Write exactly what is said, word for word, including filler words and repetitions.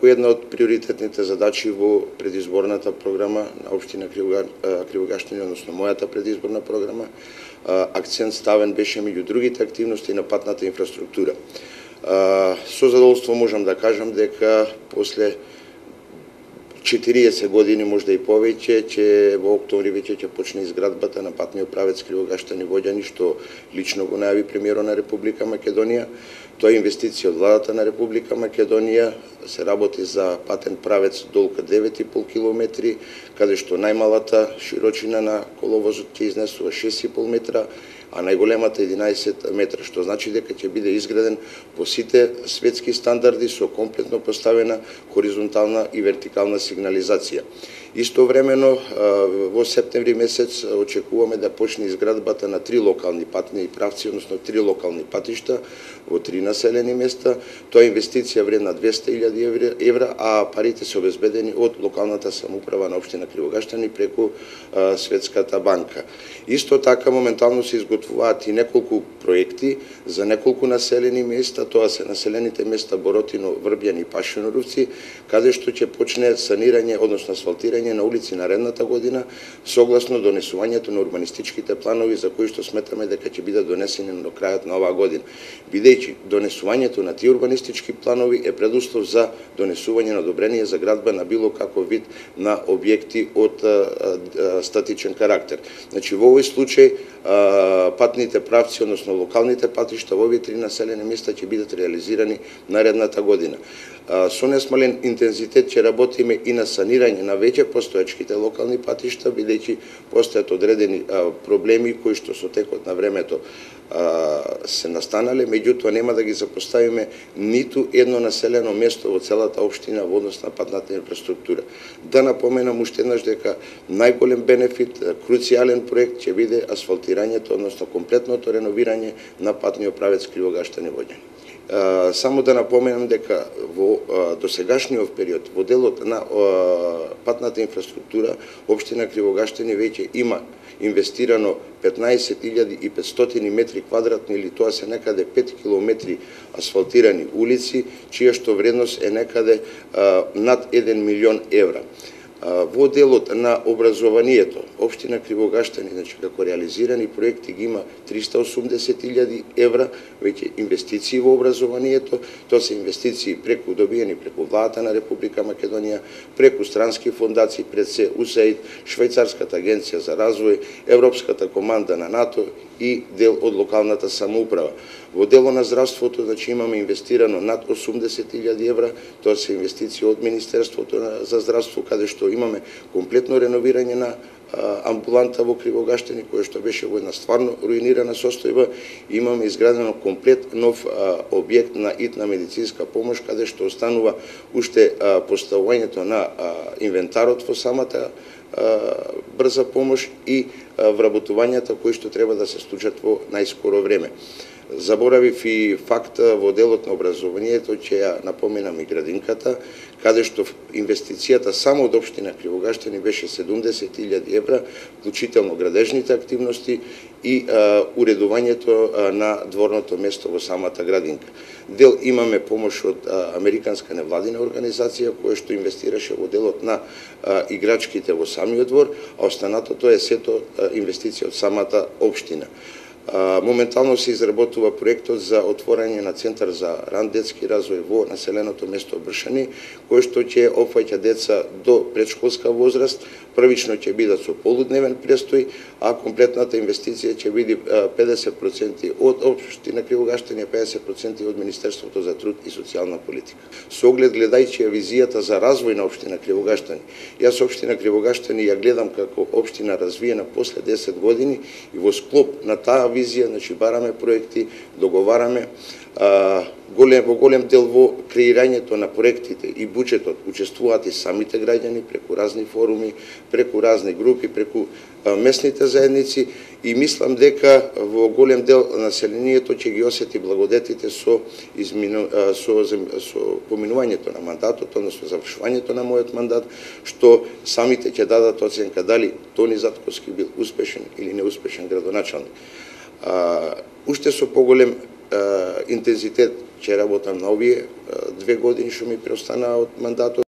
преку една од приоритетните задачи во предизборната програма на општина Кривогаштани, односно мојата предизборна програма, акцент ставен беше меѓу другите активности на патната инфраструктура. Со задоволство можам да кажам дека после четириесет години, можда и повеќе, че во октомври веќе ќе почне изградбата на патниот правец Кривогаштани Воѓани, што лично го најави премиерот на Република Македонија. Тоа е инвестиција од владата на Република Македонија, се работи за патен правец долга девет и пол километри, каде што најмалата широчина на коловозот ќе изнесува шест и пол метра, а најголемата единаесет метра, што значи дека ќе биде изграден по сите светски стандарди со комплетно поставена хоризонтална и вертикална сигнализација. Истовремено, во септември месец очекуваме да почне изградбата на три локални патни правци, односно три локални патишта во три населени места. Тоа е инвестиција вредна двесте илјади евра, а парите се обезбедени од локалната самоуправа на општина Кривогаштани преку Светската банка. Исто така моментално се изготвуваат и неколку проекти за неколку населени места, тоа се населените места Боротино, Врбјан и Пашиноровци, каде што ќе почне санирање, односно асфалтирање на улици наредната година, согласно донесувањето на урбанистичките планови за кои што сметаме дека ќе бидат донесени до крајот на оваа година. Бидејќи донесувањето на тие урбанистички планови е предуслов за донесување на одобрение за градба на било каков вид на објекти од статичен карактер. Значи во овој случај патните правци, односно локалните патишта во овие три населени места ќе бидат реализирани наредната година. Со несмален интензитет ќе работиме и на санирање на веќе постоечките локални патишта, бидејќи постојат одредени проблеми кои што со текот на времето се настанале, меѓутоа нема да ги запоставиме ниту едно населено место во целата општина во однос на патната инфраструктура. Да напоменам уште еднаш дека најголем бенефит, круцијален проект ќе биде асфалтирањето, односно комплетното реновирање на патниот правец Кривогаштани Воѓани. Само да напоменам дека во досегашниот период во делот на патната инфраструктура општина Кривогаштани веќе има инвестирано петнаесет илјади и петстотини метри квадратни, или тоа се некаде пет километри асфалтирани улици, чија што вредност е некаде над еден милион евра. Во делот на образованието, општина Кривогаштани, значи како реализирани проекти ги има триста и осумдесет илјади евра веќе инвестиции во образованието. Тоа се инвестиции преку добиени преку владата на Република Македонија, преку странски фондации, пред се УСАИД, Швајцарската агенција за развој, Европската команда на НАТО и дел од локалната самоуправа. Во дело на здравството, значи имаме инвестирано над осумдесет илјади евра, тоа се инвестиции од Министерството за здравство, каде што имаме комплетно реновирање на амбуланта во Кривогаштани, која што беше во една стварно руинирана состојба. Имаме изградено комплет нов објект на итна медицинска помош, каде што останува уште поставувањето на инвентарот во самата брза помош и вработувањата кои што треба да се случат во најскоро време. Заборавив и факт во делот на образованието, ќе ја напоменам и градинката, каде што инвестицијата само од општина Кривогаштани беше седумдесет илјади евра, вклучително градежните активности и а, уредувањето а, на дворното место во самата градинка. Дел имаме помош од а, американска невладина организација која што инвестираше во делот на а, играчките во самиот двор, а останатото е сето а, инвестиција од самата општина. Моментално се изработува проектот за отворање на центар за ран детски развој во населеното место Бршани, кој што ќе опфаќа деца до предшколска возраст. Првично ќе бидат со полудневен престој, а комплетната инвестиција ќе биде педесет проценти од општина Кривогаштани, педесет проценти од Министерството за труд и социјална политика. Со оглед гледајќи ја визијата за развој на општина Кривогаштани, јас општина Кривогаштани ја гледам како општина развиена после десет години и во склоп на таа визија, значи бараме проекти, договараме, а, голем, во голем дел во креирањето на проектите и буџетот учествуваат и самите граѓани преку разни форуми, преку разни групи, преку а, местните заедници, и мислам дека во голем дел населението ќе ги осети благодетите со, измину, а, со, со поминувањето на мандатот, односно завршувањето на мојот мандат, што самите ќе дадат оценка дали Тони Затковски бил успешен или неуспешен градоначалник. Uh, уште со поголем uh, интензитет ќе работам на овие две години што ми преостанаа од мандатот.